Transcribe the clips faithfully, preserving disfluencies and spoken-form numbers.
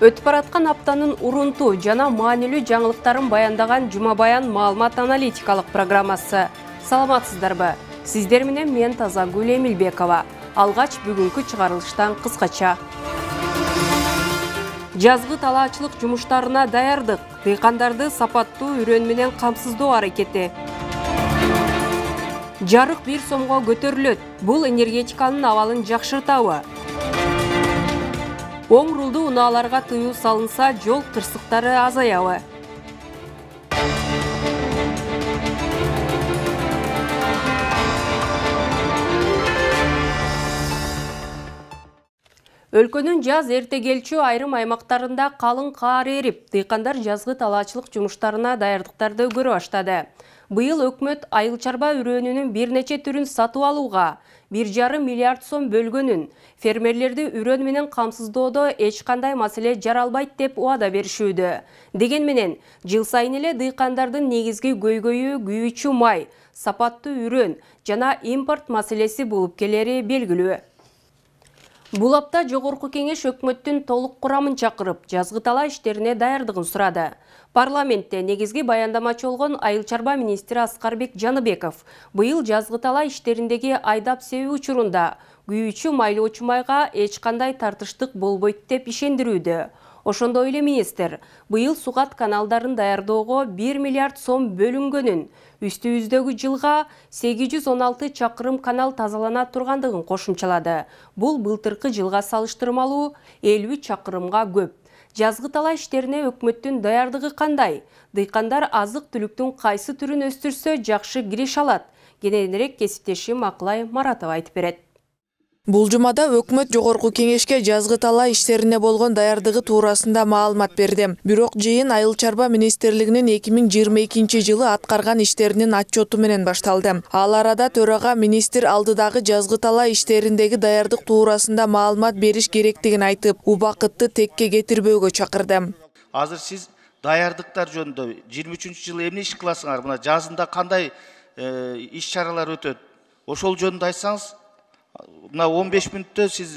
Өтүп бараткан аптанын урунту жана маанилүү жаңылыктарын баяндаган Жума Баян маалымат аналитикалык программасы. Саламатсыздарбы? Сиздер менен мен Тазагүл Эмилбекова. Алгач бүгүнкү чыгарылыштан кыскача. Жазгы талаачылык жумуштарына даярдык. Дыйкандарды сапаттуу үрөн менен камсыздоо аракети. Жарык бир сомго көтөрүлөт. Бул энергетиканын абалын жакшыртабы? Оң рулду унааларга тыюу салынса, жол кырсыктары азаябы? Өлкөнүн жаз эрте келчү айрым аймактарында калың каар эрип, дыйкандар жазгы талаачылык жумуштарына даярдыктарды көрө баштады. Быйыл өкмөт айыл чарба үрөөнүнүн бир нече түрүн сатып алууга бир жарым миллиард сом бөлгөнүн, фермерлерди үрөн менен камсыздоодо эч кандай маселе жаралбайт деп убада беришүүдө. Деген менен, жыл сайын эле дыйкандардын негизги көйгөйү күйүүчү май, сапаттуу үрөн жана импорт маселеси болуп келери белгилүү. Бул апта Жогорку Кеңеш өкмөттүн толук курамын чакырып, жазгы талаа иштерине даярдыгын сурады. Парламентте негизги баяндамачы болгон айыл чарба министри Аскарбек Жаныбеков быйыл жазгы талаа иштериндеги айдап себүү учурунда күйүүчү майлоочу майга эч кандай тартыштык болбойт деп ишендирүүдө. Ошондой эле министр быйыл сугат каналдарын даярдоого бир миллиард сом бөлүнгөнүн, үстүбүздөгү жылга сегиз жүз он алты чакырым канал тазалана тургандыгын кошумчалады. Бул былтыркы жылга салыштырмалуу элүү чакырымга көп. Жазгы талаа иштерине өкмөттүн даярдыгы кандай? Дыйкандар азык-түлүктүн кайсы түрүн өстүрсө жакшы кириш алат? Кененирээк кесиптешим Акылай Маратова айтып берет. Бул жумада өкмөт Жогорку Кеңешке жазгы талаа иштерине болгон даярдыгы туурасында маалымат берди. Бирок жыйын айыл чарба министрлигинин эки миң жыйырма экинчи жылы аткарган иштеринин отчету менен башталды. Ал арада төрага министр алдыдагы жазгы талаа иштериндеги даярдык туурасында маалымат бериш керектигин айтып, убакытты текке кетирбөөгө чакырды. Азыр сиз даярдыктар жөнүндө жыйырма үчүнчү жылы эмне иш кыласыңар? Мына жазында кандай иш чаралар өтөт? Ошол жөнүндө айтсаңыз. Мына он беш мүнөттө сиз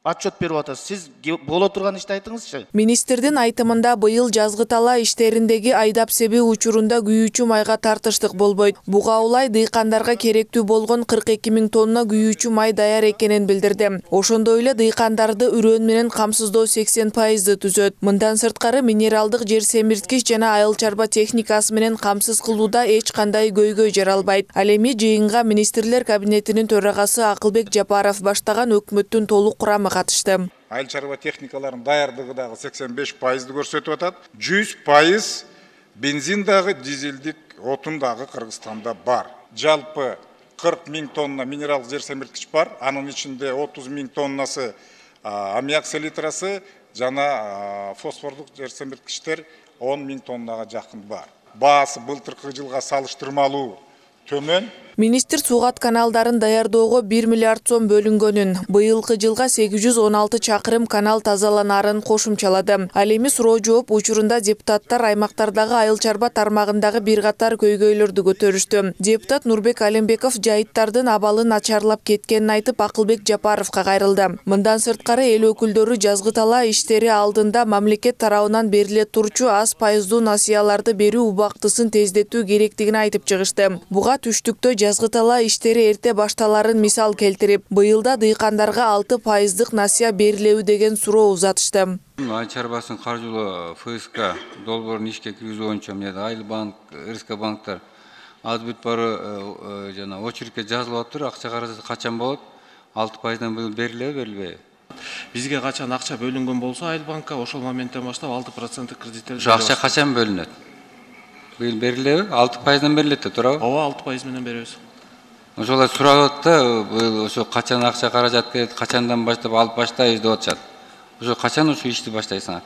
отчет берип атасыз. Сиз боло турган ишти айтыңызчы. Министрдин айтымында быйыл жазгы талаа иштериндеги айдап себүү учурунда күйүүчү майга тартыштык болбойт. Буга улай дыйкандарга керектүү болгон кырк эки миң тонна күйүүчү май даяр экенин билдирди. Ошондой эле дыйкандарды үрөн менен камсыздоо сексен пайызды түзөт. Мындан сырткары минералдык жер семирткич жана айыл чарба техникасы менен камсыз кылууда эч кандай көйгөй жаралбайт. Ал эми жыйынга министрлер кабинетинин төрагасы Акылбек Жапаров баштаган өкмөттүн толук курамы катышты. Айыл чарба техникаларынын даярдыгы дагы сексен беш пайызды көрсөтүп атат. жүз пайыз бензин дагы, дизелдик отун дагы Кыргызстанда бар. Жалпы кырк миң тонна минералдык жер семирткич бар. Анын ичинде отуз миң тоннасы аммиак селитрасы жана фосфордук жер семирткичтер он миң тоннага жакын бар. Баасы былтыркы жылга салыштырмалуу төмөн. Министр сугат каналдарын даярдоого бир миллиард сом бөлүнгөнүн, быйылкы жылга сегиз жүз он алты чакырым канал тазаланарын кошумчалады. Ал эми суроо жооп учурунда депутаттар аймактардагы айыл чарба тармагындагы бир катар көйгөйлөрдү көтөрүштү. Депутат Нурбек Алимбеков жайыттардын абалы начарлап кеткенин айтып, Акылбек Жапаровго кайрылды. Мындан сырткары эл өкүлдөрү жазгы талаа иштери алдында мамлекет тарабынан бериле турчу аз пайыздуу насыяларды берүү убактысын тездетүү керектигин айтып чыгышты. Буга түштүктө жазгы талаа иштери эрте башталарын мисал келтирип, быйылда дыйкандарга алты пайыздык насыя берилеби деген суроо узатышты. Айыл чарбасынын каржылоо эф эс ка долбоорун ишке киргизүү боюнча мына Айыл банк, эр эс ка банктар аз бүт бары жана очередке жазылып атыр. Акча каражаты качан болот? алты пайыздан быйыл берилеби, берилбейби? Бизге качан акча бөлүнгөн болсо Айыл банкка ошол моменттен баштап алты проценттик кредиттер. Акча качан бөлүнөт? Быйыл берилеби? алты пайыздан берилет да, туурабы? Ооба, алты пайыз менен беребиз. Ошолор сурап атат да, быйыл ошо качан акча каражат келет, качандан баштап алып баштайбыз деп атышат. Ошо качан ушул ишти баштайсыңар?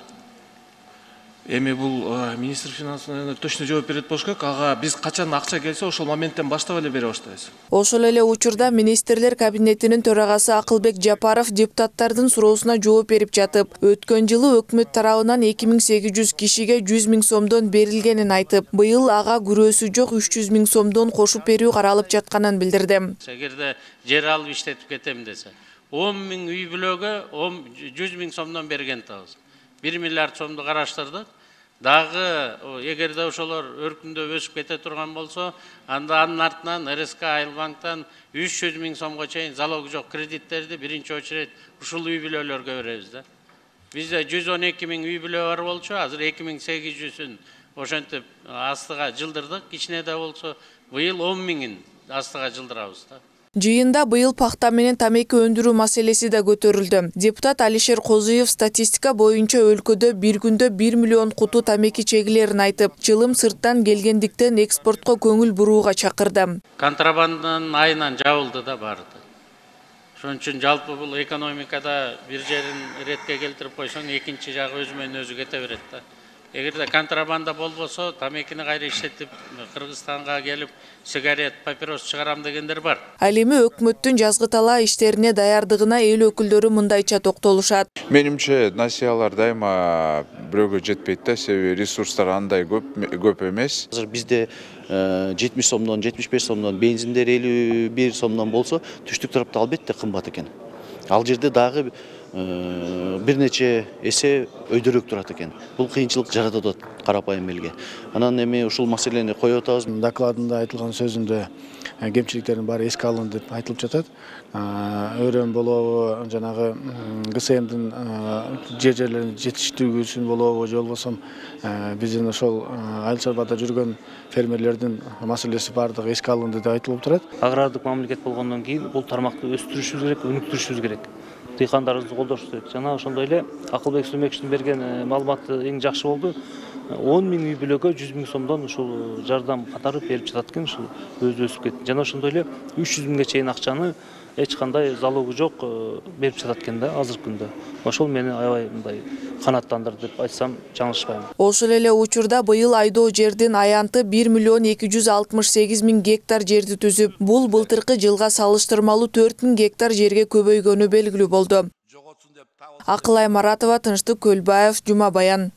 Эми бул министр финансынан точно жооп берет болуш керек. Ага биз качан акча келсе ошол моменттен баштап эле бере баштайбыз. Ошол эле учурда министрлер кабинетинин төрагасы Акылбек Жапаров депутаттардын суроосуна жооп берип жатып, өткөн жылы өкмөт тарабынан эки миң сегиз жүз кишиге жүз миң сомдон берилгенин айтып, быйыл ага күрөөсү жок үч жүз миң сомдон кошуп берүү каралып жатканын билдирди. Эгерде жер алып иштетип кетем десе, он миң үй бүлөгө жүз миң сомдон берген атабыз. бир миллиард сомду караштырдык. Дагы эгерде ошолор өркүндөп өсүп кете турган болсо, анда анын артынан эр эс ка Айыл банктан үч жүз миң сомго чейин залоги жок кредиттерди биринчи очередь ушул үй бүлөлөргө беребиз да. Бизде жүз он эки миң үй бүлө бар болчу, азыр эки миң сегиз жүзүн ошентип астыга жылдырдык. Кичине да болсо быйыл он миңин астыга жылдырабыз да. Жыйында быйыл пахта менен тамеки өндүрүү маселеси да көтөрүлдү. Депутат Алишер Козуев статистика боюнча өлкөдө бир күндө бир миллион куту тамеки чегилерин айтып, чылым сырттан келгендиктен экспортко көңүл бурууга чакырды. Контрабанданын айынан жабылды да барды. Ошон үчүн жалпы бул экономикада бир жерин ретке келтирип койсоң, экинчи жагы өзү менен өзү кете берет да. Эгерде контрабанда болбосо, тамекини кайра иштетип Кыргызстанга келип сигарет, папирос чыгарам дегендер бар. Ал эми өкмөттүн жазгы талаа иштерине даярдыгына эл өкүлдөрү мындайча токтолушат. Менимче насыялар дайыма бирөөгө жетпейт да, себеби ресурстар андай көп көп эмес. Азыр бизде жетимиш сомдон, жетимиш беш сомдон, бензиндер элүү бир сомдон болсо, түштүк тарапта албетте кымбат экен. Ал жерде дагы бир нече эсе өйдөрөөк турат экен. Бул кыйынчылык жаратат атат карапайым элге. Анан эми ушул маселени коюп атабыз. Докладында айтылган сөзүндө кемчиликтердин баары эске алынды деп айтылып жатат. Өрөм болобу, жанагы гэ эс эмдин жер жерлерин жетиштирүүсүн болобу, же болбосо биздин ошол айыл чарбада жүргөн фермерлердин маселеси баардыгы эске алынды деп айтылып турат. Агрардык мамлекет болгондон кийин бул тармакты өстүрүшүбүз керек, өнүктүрүшүбүз керек. Дыйкандарыбызды колдошубуз керек. Жана ошондой эле Акылбек Сүмекчиндин берген маалыматы эң жакшы болду. он миң үй бүлөгө жүз миң сомдон ушул жардам катары берип жатат экен, ушул өзү өсүп кетти. Жана ошондой эле үч жүз миңге чейин акчаны эч кандай залогу жок берип жатат экен да азыркы күндө. Ошол мени аябай мындай канааттандырды деп айтсам жаңылышпайм. Ошол эле учурда быйыл айдоо жердин аянты бир миллион эки жүз алтымыш сегиз миң гектар жерди түзүп, бул былтыркы жылга салыштырмалуу төрт миң гектар жерге көбөйгөнү белгилүү болду. Акылай Маратова, Тынчтык Көлбаев, Жума Баян.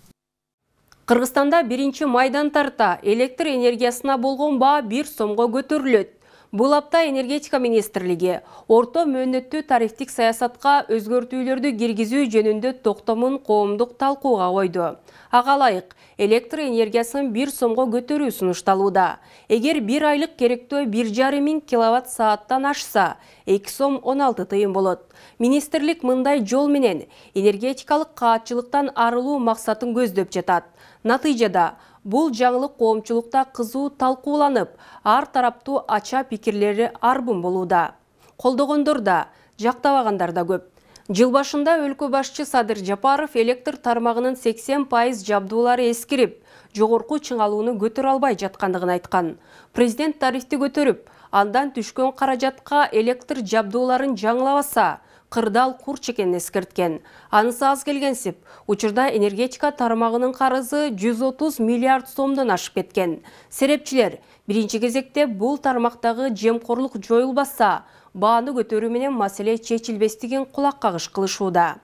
Кыргызстанда биринчи майдан тарта электр энергиясына болгон баа бир сомго көтөрүлөт. Бул апта энергетика министрлиги орто мөөнөттүү тарифтик саясатка өзгөртүүлөрдү киргизүү жөнүндө токтомун коомдук талкууга койду. Ага ылайык электр энергиясын бир сомго көтөрүү сунушталууда. Эгер бир айлык керектөө бир жарым миң киловатт сааттан ашса, эки сом он алты тыйын болот. Министрлик мындай жол менен энергетикалык каатчылыктан арылуу максатын көздөп жатат. Натыйжада бул жаңылык коомчулукта кызуу талкууланып, ар тараптуу ача пикирлери арбын болууда. Колдогондор да, жактабагандар да көп. Жыл башында өлкө башчы Садыр Жапаров электр тармагынын сексен пайыз жабдуулары эскирип, жогорку чыңалууну көтөрө албай жаткандыгын айткан. Президент тарифти көтөрүп, андан түшкөн каражатка электр жабдууларын жаңылабаса, кырдаал курч экенин эскерткен. Анысы аз келгенсип, учурда энергетика тармагынын карызы жүз отуз миллиард сомдон ашып кеткен. Серепчилер биринчи кезекте бул тармактагы жемкорлук жоюлбаса, бааны көтөрүү менен маселе чечилбестигин кулак кагыш кылышууда.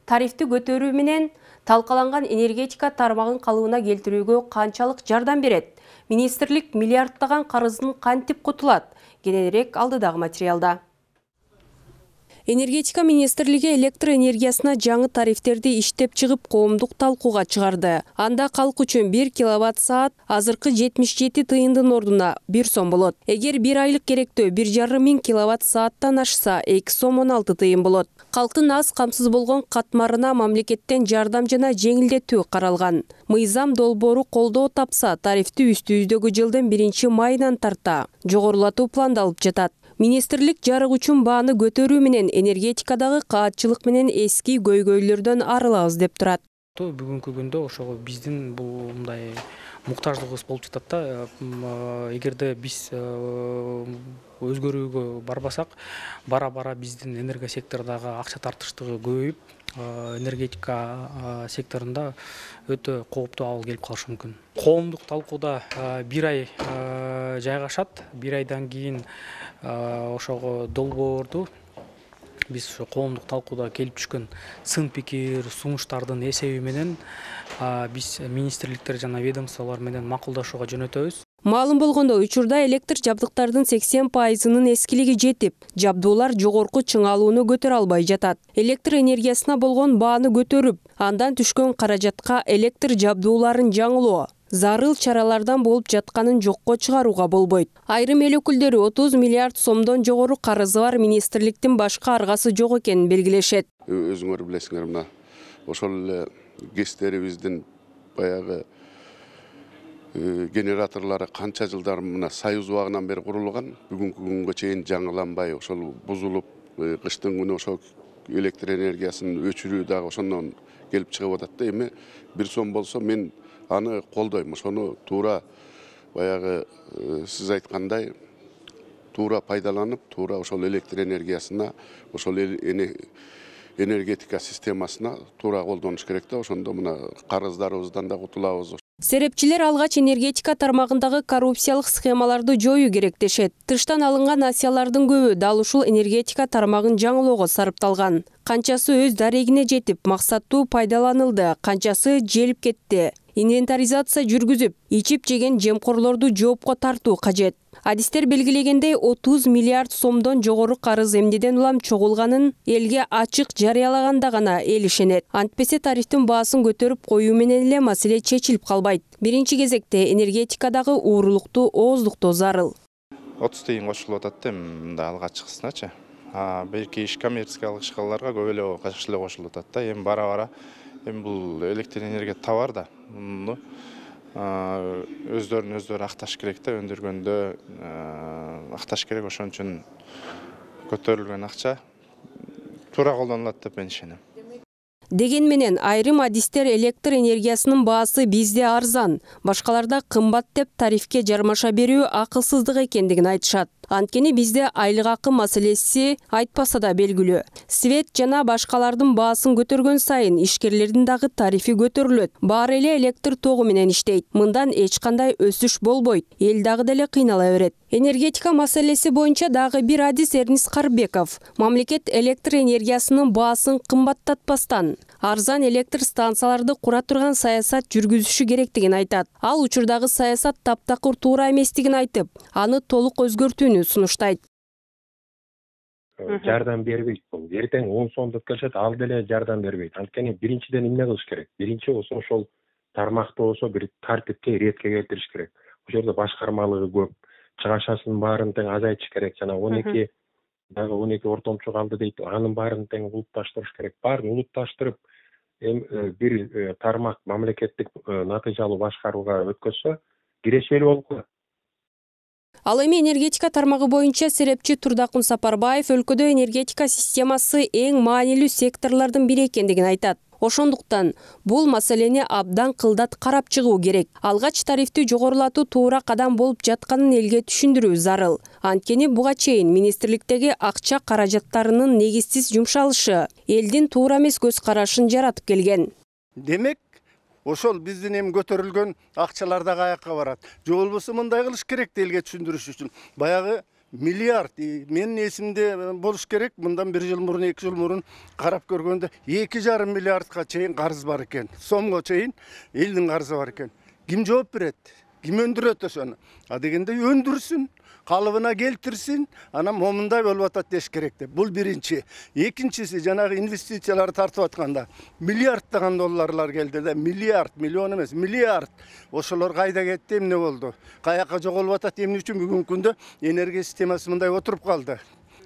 Тарифти көтөрүү менен талкаланган энергетика тармагын калыбына келтирүүгө канчалык жардам берет? Министрлик миллиардтаган карыздын кантип кутулат? Кененирээк алдыдагы материалда. Энергетика министрлиги электр энергиясына жаңы тарифтерди иштеп чыгып коомдук талкууга чыгарды. Анда калк үчүн бир киловатт саат азыркы жетимиш жети тыйындын ордуна бир сом болот. Эгер бир айлык керектөө бир жарым миң киловатт сааттан ашса, эки сом он алты тыйын болот. Калктын аз камсыз болгон катмарына мамлекеттен жардам жана жеңилдетүү каралган. Мыйзам долбоору колдоо тапса, тарифти үстүбүздөгү жылдын биринчи майынан тарта жогорулатуу пландалып жатат. Министрлик жарык үчүн бааны көтөрүү менен энергетикадагы каатчылык менен эски көйгөйлөрдөн арылабыз деп турат. Бүгүнкү күндө ошого биздин бул мындай муктаждыгыбыз болуп жатат да. Эгерде биз өзгөрүүгө барбасак, бара-бара биздин энергия секторундагы акча тартыштыгы көбөйүп, энергетика секторунда өтө кооптуу абал келип калышы мүмкүн. Коомдук талкууда бир ай жайгашат. Бир айдан кийин ошого долбоорду биз ошо коомдук талкууда келип түшкөн сын пикир, сунуштардын эсеби менен биз министрликтер жана ведомстволор менен макулдашууга жөнөтөбүз. Маалым болгондой, учурда электр жабдыктардын сексен пайызынын эскилиги жетип, жабдуулар жогорку чыңалууну көтөрө албай жатат. Электр энергиясына болгон бааны көтөрүп, андан түшкөн каражатка электр жабдууларын жаңылоо зарыл чаралардан болуп жатканын жокко чыгарууга болбойт. Айрым эл өкүлдөрү отуз миллиард сомдон жогору карызы бар министрликтин башка аргасы жок экенин белгилешет. Өзүңөр билесиңер, мына ошол эле ГЭСтерибиздин баягы генераторлары канча жылдар мына Союз убагынан бери курулган, бүгүнкү күнгө чейин жаңыланбай, ошол бузулуп, кыштын күнү ошол электр энергиясын өчүрүү дагы ошондон келип чыгып атат да. Эми бир сом болсо мен аны колдойм. Ошону туура баягы сиз айткандай туура пайдаланып, туура ошол электр энергиясына, ошол энергетика системасына туура колдонуш керек да. Ошондо мына карыздарыбыздан да кутулабыз. Серепчилер алгач энергетика тармагындагы коррупциялык схемаларды жоюу керек дешет. Тыштан алынган акциялардын көбү дал ушул энергетика тармагын жаңылоого сарпталган. Канчасы өз дарегине жетип, максаттуу пайдаланылды, канчасы желип кетти. Инвентаризация жүргүзүп, ичип жеген жемкорлорду жоопко тартуу кажет. Адистер белгилегендей отуз миллиард сомдон жогору карыз эмнеден улам чогулганын элге ачык жарыялаганда гана эл ишенет. Антпесе тарифтин баасын көтөрүп коюу менен эле маселе чечилип калбайт. Биринчи кезекте энергетикадагы уурулукту ооздуктоо зарыл. отуз тыйын кошулуп атат да, мында алгачкысыначы. А белки иш коммерциялык ишкаларга көп эле качкыш эле кошулуп атат да. Эми бара-бара эми бул электр энергия товар да. Муну өздөрүн өздөрү акташ керек да, өндүргөндө акташ керек. Ошон үчүн көтөрүлгөн акча туура колдонулат деп мен ишенем. Деген менен айрым адистер электр энергиясынын баасы бизде арзан, башкаларда кымбат деп тарифке жармаша берүү акылсыздык экендигин айтышат. Анткени бизде айлык акы маселеси айтпаса да белгилүү. Свет жана башкалардын баасын көтөргөн сайын ишкерлердин дагы тарифи көтөрүлөт. Баары эле электр тогу менен иштейт. Мындан эч кандай өсүш болбойт. Эл дагы деле кыйнала берет. Энергетика маселеси боюнча дагы бир адис Эрнис Карбеков. Мамлекет электр энергиясынын баасын кымбаттатпастан арзан электр станцияларды кура турган саясат жүргүзүшү керектигин айтат. Ал учурдагы саясат таптакыр туура эместигин айтып, аны толук өзгөртүүнү сунуштайт. Жардам бербейт бул. Эртең он сом деп келишет, ал деле жардам бербейт. Анткени биринчиден эмне кылыш керек? Биринчи болсо ошол тармакты болсо бир тартипке, иретке келтириш керек. Ошол жерде башкармалыгы көп, чыгашасын баарын тең азайтыш керек. Жана он эки дагы он эки ортомчу калды дейт. Анын баарын тең улутташтырыш керек. Баарын улутташтырып, бир тармак мамлекеттик натыйжалуу башкарууга өткөзсө, кирешелүү болуп калат. Ал эми энергетика тармагы боюнча серепчи Турдакун Сапарбаев өлкөдө энергетика системасы эң маанилүү секторлордун бири экендигин айтат. Ошондуктан бул маселени абдан кылдат карап чыгуу керек. Алгач тарифти жогорулатуу туура кадам болуп жатканын элге түшүндүрүү зарыл. Анткени буга чейин министрликтеги акча каражаттарынын негизсиз жумшалышы элдин туура эмес көз карашын жаратып келген. Демек, ошол биздин эми көтөрүлгөн акчалар да каякка барат. Же болбосо мындай кылыш керек элге түшүндүрүш үчүн. Баягы миллиард менин эсимде болуш керек. Мындан бир жыл мурун, эки жыл мурун карап көргөндө эки жарым миллиардка чейин карыз бар экен. Сомго чейин элдин карызы бар экен. Ким жооп берет? Ким өндүрөт ошону? А дегенде өндүрсүн, калыбына келтирсин, анан момундай болуп атат деш керек деп. Бул биринчи. Экинчиси, жанагы инвестициялар тартып атканда миллиарддаган долларлар келди да, миллиард, миллион эмес, миллиард. Ошолор кайда кетти, эмне болду? Каяка жоголуп атат, эмне үчүн бүгүнкү күндө энергия системасы мындай отуруп калды?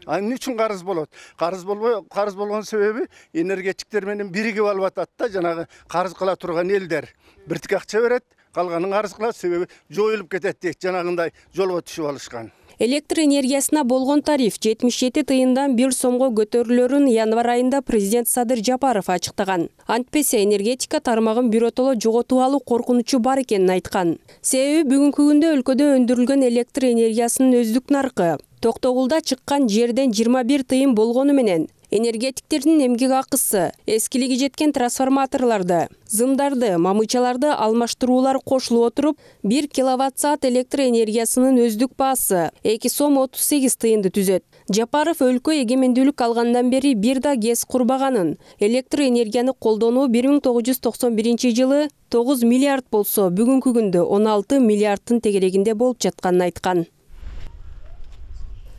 Эмне үчүн карыз болот? Карыз болбой, карыз болгон себеби энергетиктер менен биригип алып атат да, жанагы карыз кыла турган элдер. Биртик акча берет, калганын карыз кылат, себеби жоюлуп кетет дейт, жанагындай жолго түшүп алышкан. Электр энергиясына болгон тариф жетимиш жети тыйындан бир сомго көтөрүлөрүн январь айында президент Садыр Жапаров ачыктаган. Антпесе энергетика тармагын биротоло жоготуп алуу коркунучу бар экенин айткан. Себеби бүгүнкү күндө өлкөдө өндүрүлгөн электр энергиясынын өздүк наркы Токтогулда чыккан жерден жыйырма бир тыйын болгону менен Энергетиктердин эмгек акысы, эскилиги жеткен трансформаторларды, зымдарды, мамычаларды алмаштыруулар кошулуп отуруп, бир киловатт саат электр энергиясынын өздүк баасы эки сом отуз сегиз тыйынды түзөт. Жапаров өлкө эгемендүүлүк алгандан бери бир да гез курбаганын, электр энергияны колдонуу бир миң тогуз жүз токсон биринчи жылы тогуз миллиард болсо, бүгүнкү күндө он алты миллиардтын тегерегинде болуп жатканын айткан.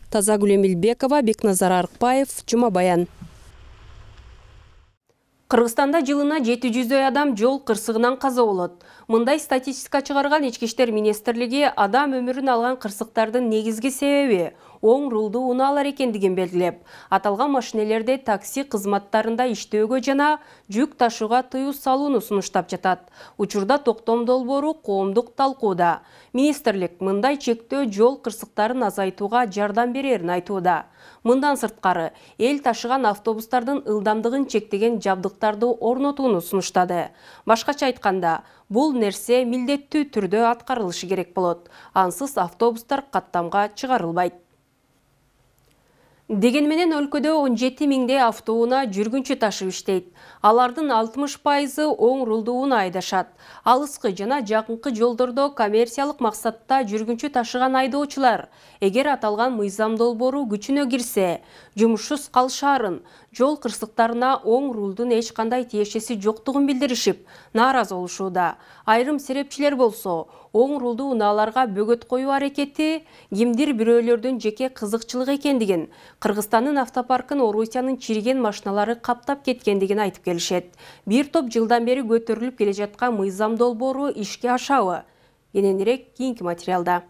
Тазагүл Эмилбекова, Бекназар Арыкбаев, Жума Баян. Кыргызстанда жылына жети жүздөй адам жол кырсыгынан каза болот. Мындай статистика чыгарган Ички иштер министрлиги адам өмүрүн алган кырсыктардын негизги себеби оң рулдуу унаалар экендигин белгилеп, аталган машинелерде такси кызматтарында иштөөгө жана жүк ташууга тыюу салууну сунуштап жатат. Учурда токтом долбоору коомдук талкууда. Министрлик мындай чектөө жол кырсыктарын азайтууга жардам берерин айтууда. Мындан сырткары, эл ташыган автобустардын ылдамдыгын чектеген жабдыктарды орнотууну сунуштады. Башкача айтканда, бул нерсе милдеттүү түрдө аткарылышы керек болот. Ансыз автобустар каттамга чыгарылбайт. Деген менен өлкөдө он жети миңдей автоунаа жүргүнчү ташып иштейт. Алардын алтымыш пайызы оң рулдуу унаа айдашат. Алыскы жана жакынкы жолдордо коммерциялык максатта жүргүнчү ташыган айдоочулар, эгер аталган мыйзам долбоору күчүнө кирсе, жумушсуз калышаарын, жол кырсыктарына оң рулдун эч кандай тиешеси жоктугун билдиришип, нааразы болушууда. Айрым серепчилер болсо, оң рулдуу унааларга бөгөт коюу аракети кимдир бирөөлөрдүн жеке кызыкчылыгы экендигин, Кыргызстандын автопаркын Орусиянын чириген машиналары каптап кеткендигин айтып келишет. Бир топ жылдан бери көтөрүлүп келе жаткан мыйзам долбоору ишке ашабы? Кененирээк кийинки материалда.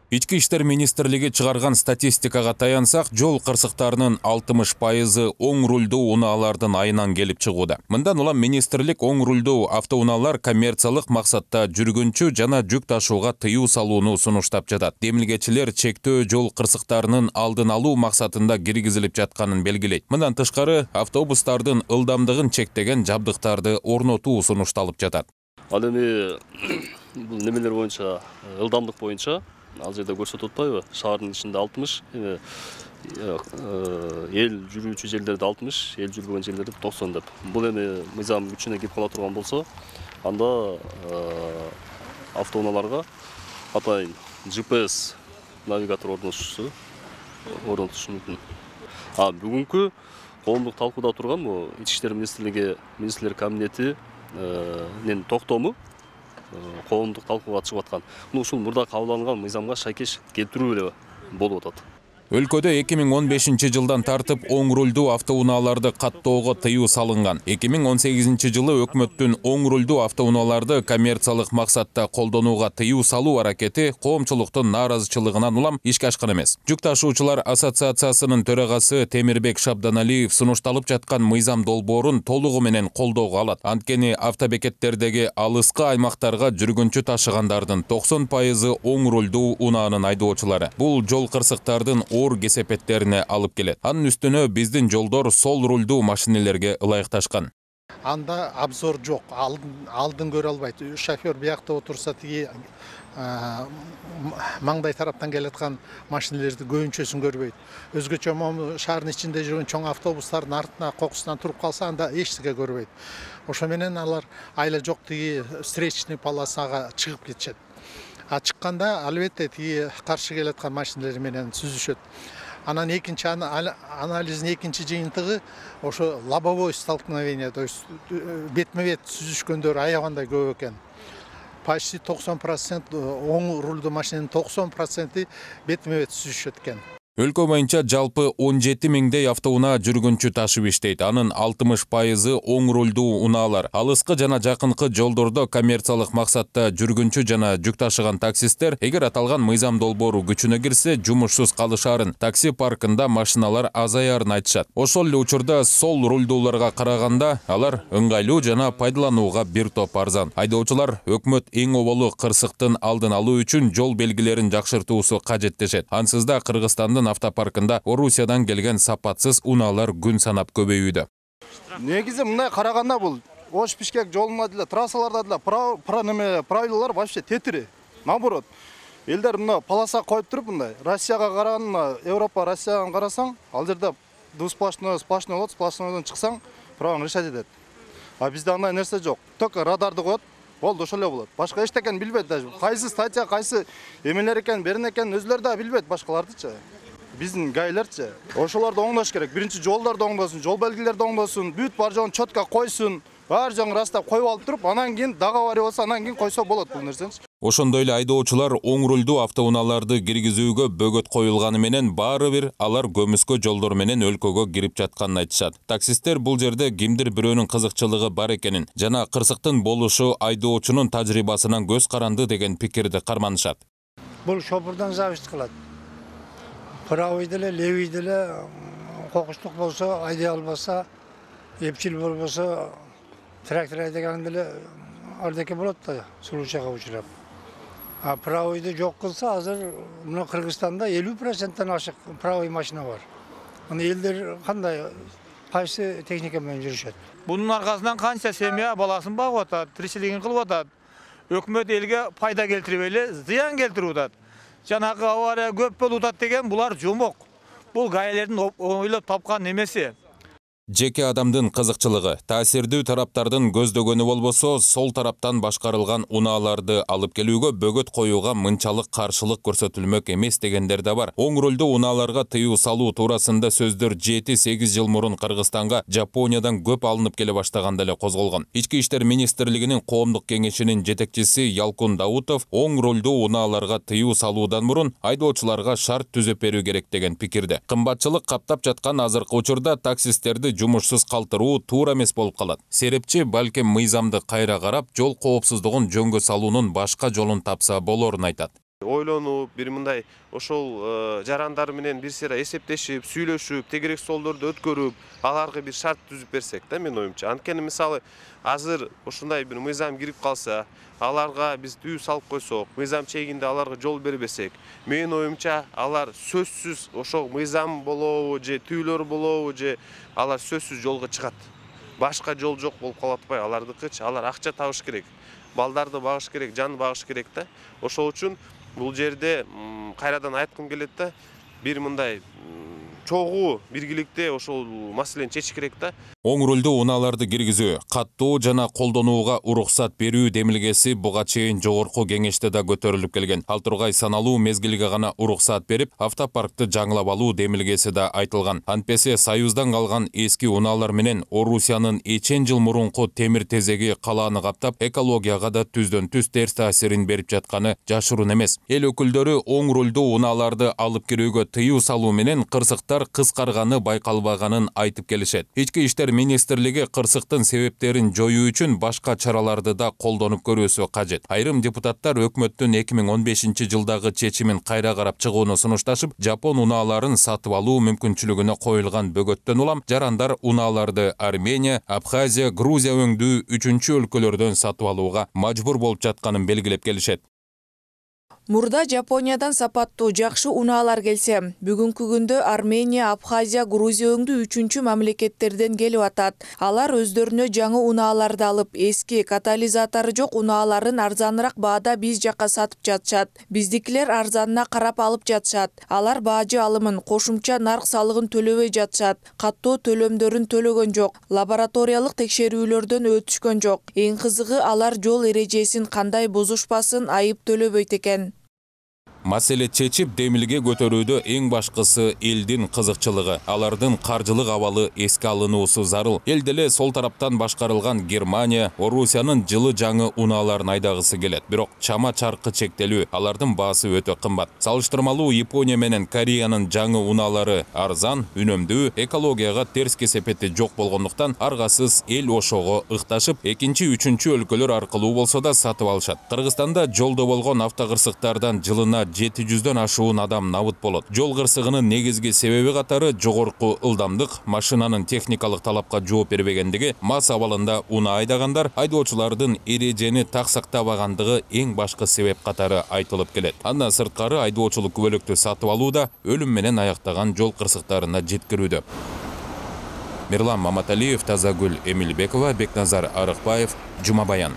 Ички иштер министрлиги чыгарган статистикага таянсак, жол кырсыктарынын алтымыш пайызы оң рулдуу унаалардын айынан келип чыгууда. Мындан улам министрлик оң рулдуу автоунаалар коммерциялык максатта жүргүнчү жана жүк ташууга тыюу салууну сунуштап жатат. Демилгечилер чектөө жол кырсыктарынын алдын алуу максатында киргизилип жатканын белгилейт. Мындан тышкары, автобустардын ылдамдыгын чектеген жабдыктарды орнотуу сунушталып жатат. Ал эми бул немелер боюнча, ылдамдык боюнча ал жерде көрсөтүп атпайбы? Шаардын ичинде алтымыш, эми эл жүрүүчү жерлерде алтымыш, эл жүрбөгөн жерлерде токсон деп. Бул эми мыйзам күчүнө кирип кала турган болсо, анда автоунааларга атайын джи пи эс навигатор орнотушу орнотушу мүмкүн. А бүгүнкү коомдук талкууда турган бул Ички иштер министрлиги министрлер кабинетинин токтому коомдук талкууга чыгып аткан. Ушул мурда кабыл алынган мыйзамга шайкеш келтирүү эле болуп атат. Өлкөдө эки миң он бешинчи жылдан тартып оң рулдуу автоунааларды каттоого тыюу салынган. эки миң он сегизинчи жылы өкмөттүн оң рулдуу автоунааларды коммерциялык максатта колдонууга тыюу салуу аракети коомчулуктун нааразычылыгынан улам ишке ашкан эмес. Жүк ташуучулар ассоциациясынын төрагасы Темирбек Шабданалиев сунушталып жаткан мыйзам долбоорун толугу менен колдоого алат. Анткени автобекеттердеги алыскы аймактарга жүргүнчү ташыгандардын токсон пайызы оң рулдуу унаанын айдоочулары. Бул жол кырсыктардын оор кесепеттерине алып келет. Анын үстүнө биздин жолдор сол рулдуу машинелерге ылайыкташкан. Анда обзор жок, алдын көрө албайт. Шофер биякта отурса, тиги маңдай тараптан келаткан машинелерди көбүнчөсүн көрбөйт. Өзгөчө могу шаардын ичинде жүргөн чоң автобустардын артына кокусунан туруп калса, анда эч нерсе көрбөйт. Ошо менен алар айла жок тиги встречный полосага чыгып кетишет. А чыкканда албетте тиги каршы келаткан машиналар менен сүзүшөт. Анан экинчи анализдин экинчи жыйынтыгы ошо лобовой столкновение, то есть бетме-бет сүзүшкөндөр аябандай көп экен. Почти токсон процент оң рулдуу машинанын токсон проценти бетме-бет сүзүшөт экен. Өлкө боюнча жалпы он жети миңдей автоунаа жүргүнчү ташып иштейт. Анын алтымыш пайызы оң рулдуу унаалар. Алыскы жана жакынкы жолдордо коммерциялык максатта жүргүнчү жана жүк ташыган таксисттер, эгер аталган мыйзам долбоору күчүнө кирсе, жумушсуз калышаарын, такси паркында машиналар азаярын айтышат. Ошол эле учурда сол рулдууларга караганда алар ыңгайлуу жана пайдаланууга бир топ арзан. Айдоочулар өкмөт эң оболу кырсыктын алдын алуу үчүн жол белгилерин жакшыртуусу кажет дешет. Ансызда Кыргызстандын автопаркында Орусиядан келген сапатсыз унаалар күн санап көбөйүүдө. Негизи мындай караганда бул Ош-Бишкек жолунда деле, трассаларда деле правилалар вообще тетири. Наоборот, элдер мына полоса коюп туруп мындай Россияга караганда, Европа, Россияга карасаң, ал жерде двусплошной, сплошной болот, сплошнойдон чыксаң, правоң решать этет. А бизде андай нерсе жок. Только радарды коет, болду ошол эле болот. Башка эчтекен билбейт даже. Кайсы статья, кайсы эмелер экен, берен экен өзүлөрү да билбейт башкалардычы. Биздин гайлерчи. Ошолорду оңдош керек. Биринчи жолдорду оңдосун, жол белгилерди оңдосун, бүт бар жогун чётко койсун. Бар жагын растап коюп алып туруп, анан кийин дагы авария болсо, анан кийин койсо болот бул нерсени. Ошондой эле айдоочулар оң рулдуу автоунааларды киргизүүгө бөгөт коюлганы менен баары бир алар көмүскө жолдор менен өлкөгө кирип жатканын айтышат. Таксисттер бул жерде кимдир бирөөнүн кызыкчылыгы бар экенин жана кырсыктын болушу айдоочунун тажрыйбасынан көз каранды деген пикирди карманышат. Бул шопурдан зависит кылат. Правый деле, левый деле кокустук болсо, айдай албаса, эпчил болбосо, трактор айдаган деле ардеке болот да, сулуучага учурап. А правыйды жок кылса, азыр мына Кыргызстанда элүү проценттен ашык правый машина бар. Аны элдер кандай, кайсы техника менен жүрүшөт? Бунун аркасынан канча семья баласын багып атат, тиричилигин кылып атат. Өкмөт элге пайда келтирип эле зыян келтирип атат. Жанагы авария көп болуп атат деген булар жомок. Бул гаилердин ойлоп тапкан немеси. Жеке адамдын кызыкчылыгы, таасирдүү тараптардын көздөгөнү болбосо, сол тараптан башкарылган унааларды алып келүүгө бөгөт коюуга мынчалык каршылык көрсөтүлмөк эмес дегендер да бар. Оң рулдуу унааларга тыюу салуу туурасында сөздөр жети сегиз жыл мурун Кыргызстанга Жапониядан көп алынып келе баштаганда эле козголгон. Ички иштер министрлигинин коомдук кеңешинин жетекчиси Ялкун Даутов оң рулдуу унааларга тыюу салуудан мурун айдоочуларга шарт түзөп берүү керек деген пикирде. Кымбатчылык каптап жаткан азыркы учурда таксисттерди жумушсуз калтыруу туура эмес болуп калат. Серепчи балким мыйзамды кайра карап, жол коопсуздугун жөнгө салуунун башка жолун тапса болорун айтат. Ойлонуп, бир мындай ошол жарандар менен бир сыйра эсептешип, сүйлөшүп, тегерек солдорду өткөрүп, аларга бир шарт түзүп берсек да, мен оюмча. Анткени мисалы азыр ушундай бир мыйзам кирип калса, аларга биз түйүү салып койсок, мыйзам чегинде аларга жол бербесек, мен оюмча алар сөзсүз ошол мыйзам болобу же түйүлөр болобу же алар сөзсүз жолго чыгат. Башка жол жок болуп калат атпайбы алардыкычы? Алар акча табыш керек, балдарды багыш керек, жан багыш керек да. Ошол үчүн бул жерде кайрадан айткым келет да, бир мындай чогуу биргиликте ошол маселени чечиш керек да. Оң рулдуу унааларды киргизүү, каттоо жана колдонууга уруксат берүү демилгеси буга чейин жогорку кеңеште да көтөрүлүп келген. Ал тургай саналуу мезгилге гана уруксат берип, автопаркты жаңылап алуу демилгеси да айтылган. Антпесе Союздан калган эски унаалар менен Орусиянын эчен жыл мурунку темир тезеги калааны каптап, экологияга да түздөн түз терс таасирин берип жатканы жашыруун эмес. Эл өкүлдөрү оң рулдуу унааларды алып кирүүгө тыюу салуу менен кырсыктар кыскарганы байкалбаганын айтып келишет. Ички иштер министрлиги кырсыктын себептерин жоюу үчүн башка чараларды да колдонуп көрүүсү кажет. Айрым депутаттар өкмөттүн эки миң он бешинчи жылдагы чечимин кайра карап чыгууну сунушташып, Жапон унааларын сатып алуу мүмкүнчүлүгүнө коюлган бөгөттөн улам жарандар унааларды Армения, Абхазия, Грузия өңдүү үчүнчү өлкөлөрдөн сатып алууга мажбур болуп жатканын белгилеп келишет. Мурда Жапониядан сапаттуу жакшы унаалар келсе, бүгүнкү күндө Армения, Абхазия, Грузия өңдүү үчүнчү мамлекеттерден келип атат. Алар өздөрүнө жаңы унааларды алып, эски катализатору жок унааларын арзаныраак баада биз жакка сатып жатышат. Биздикилер арзанына карап алып жатышат. Алар баажы алымын, кошумча нарк салыгын төлөбөй жатышат. Каттоо төлөмдөрүн төлөгөн жок. Лабораториялык текшерүүлөрдөн өтүшкөн жок. Эң кызыгы алар жол эрежесин кандай бузушпасын айып төлөбөйт экен. Маселе чечип демилге көтөрүүдө эң башкысы элдин кызыкчылыгы, алардын каржылык абалы эске алынуусу зарыл. Эл деле сол тараптан башкарылган Германия, Орусиянын жылы жаңы унааларын айдагысы келет. Бирок чама чаркы чектелүү, алардын баасы өтө кымбат. Салыштырмалуу Япония менен Кореянын жаңы унаалары арзан, үнөмдүү, экологияга терс кесепети жок болгондуктан аргасыз эл ошого ыкташып, экинчи, үчүнчү өлкөлөр аркылуу болсо да сатып алышат. Кыргызстанда жолдо болгон автокырсыктардан жылына жети жүздөн ашуун адам набыт болот. Жол кырсыгынын негизги себеби катары жогорку ылдамдык, машинанын техникалык талапка жооп бербегендиги, мас абалында унаа айдагандар, айдоочулардын эрежени так сактабагандыгы эң башкы себеп катары айтылып келет. Андан сырткары айдоочулук күбөлүктү сатып алуу да өлүм менен аяктаган жол кырсыктарына жеткирүүдө. Мирлан Маматалиев, Тазагүл Эмилбекова, Бекназар Арыкбаев, Жумабаян.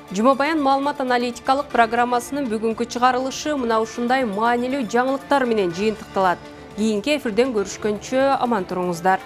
Жумабаян маалымат аналитикалык программасынын бүгүнкү чыгарылышы мына ушундай маанилүү жаңылыктар менен жыйынтыкталат. Кийинки эфирден көрүшкөнчө аман туруңуздар.